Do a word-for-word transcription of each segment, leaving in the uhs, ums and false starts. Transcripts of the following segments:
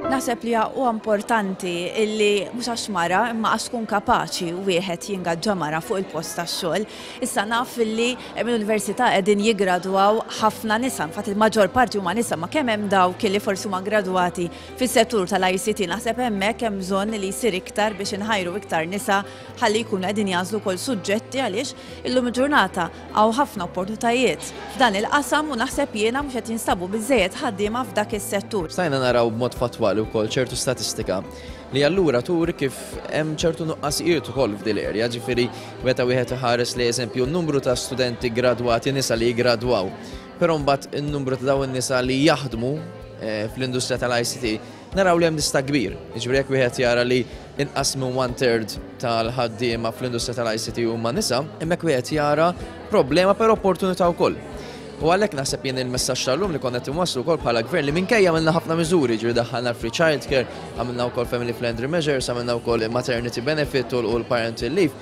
Naħseb li huwa importanti illi mhux għax mara, imma għax tkun kapaċi wieħed jingaġġa mara fuq il-post tax-xogħol. Issa naf illi mill-università qegħdin jiggradwaw ħafna nisa, infatti il-maġġor parti huma nisa, ma kemm hemm dawk li forsi huma gradwati fis-settur tal-I C T, naħseb hemmhekk hemm bżonn li jsir iktar biex inħajru iktar nisa ħalli jkunu qegħdin jagħżlu wkoll suġġetti, għaliex illum il-ġurnata hawn ħafna opportunitajiet f'dan il-qasam u naħseb jiena mhux qed jinstabu biżejjed ħaddiema f'dak is-settur. Stajna naraw b'mod fatwali wkoll ċertu statistika li allura turi kif hemm ċertu nuqqasijiet ukoll f'dil area, ġifieri meta wieħed iħares li, eżempju, n-numru ta' studenti gradwati nisa li jgradwaw, però mbagħad in-numru ta' dawn in-nisa li jaħdmu eh, fl-industrija tal-I C T, naraw li hemm distakk kbir. Ġifieri jekk wieħed jara li inqas minn one third tal-ħaddiema fl-industrija tal-I C T huma nisa, hemmhekk wieħed jara problema, però opportunità wkoll. U għalhekk naħseb jien il-messaġġ tal-lum li konna inwasslu wkoll bħala gvern li minkejja għamilna ħafna miżuri, ġifieri daħħalna free child care, għamilna wkoll family friendly measures, għamilna wkoll maternity benefit u l-parental leave.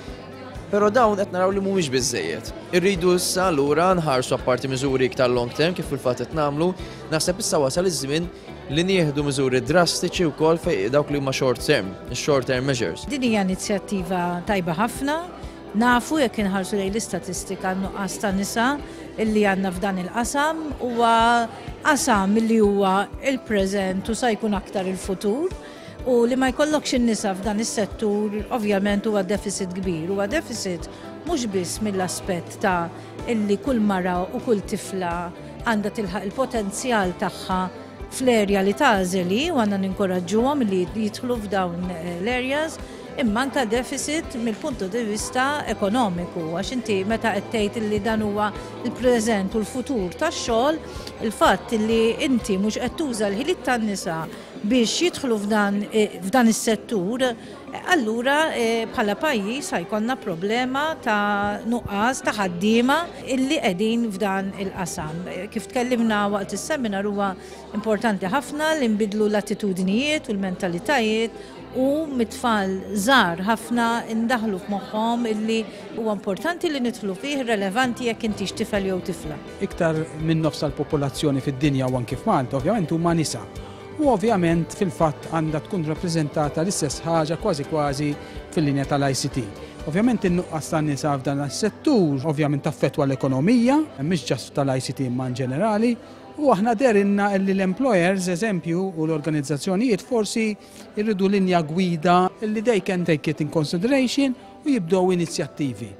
Però dawn qed naraw li mhumiex biżejjed. Irridu issa lura nħarsu, apparti miżuri iktar long term, kif fil-fatt qed nagħmlu, naħseb issa wasal iż-żmien li nieħdu miżuri drastiċi wkoll fejn dawk li huma short term, short term measures. Din hija inizjattiva tajba ħafna. Nafu, jekk inħarsu lejn l-istatistika, nuqqas ta' nisa illi għandna f'dan il-qasam, huwa qasam illi huwa il-preżent u sa jkun aktar il-futur. U li ma jkollokx in-nisa f'dan is-settur ovvjament huwa deficit kbir. Huwa deficit mhux biss mill-aspett ta' illi kull mara u kull tifla għandha tilħaq il-potenzjal tagħha fl-area li tagħżel u għandna ninkoraġġuhom li jidħlu f'dawn l-areas, imma anka deficit mill-punto di vista ekonomiku, għax inti meta qed tgħid li dan huwa il-preżent u l-futur tax-xogħol, il-fatt li inti mhux qed tuża l-ħiliet tan-nisa biex jidħlu f'dan f'dan is-settur, allura bħala pajjiż ħa jkollna problema ta' nuqqas ta' ħaddiema illi qegħdin f'dan il-qasam. Kif tkellimna waqt is-seminar, huwa importanti ħafna li nbidlu l-attitudnijiet u l-mentalitajiet u mit-tfal żgħar ħafna indaħlu f'moħħhom illi huwa importanti li nidħlu fih, relevanti jekk intix tifel jew tifla. Iktar minn nofs tal-popolazzjoni fid-dinja u anki f'Malta ovvjament huma nisa. U ovvjament fil-fatt għandha tkun rappreżentata l-istess ħaġa kważi kważi fil-linja tal-I C T. Ovvjament in-nuqqas tan-nisa f'dan is-settur ovvjament taffettwa l-ekonomija, mhix just tal-I C T imma in ġenerali, u aħna dehrilna li l-employers, eżempju, u l-organizzazzjonijiet forsi irridu linja gwida li they can take it in consideration u jibdew inizjattivi.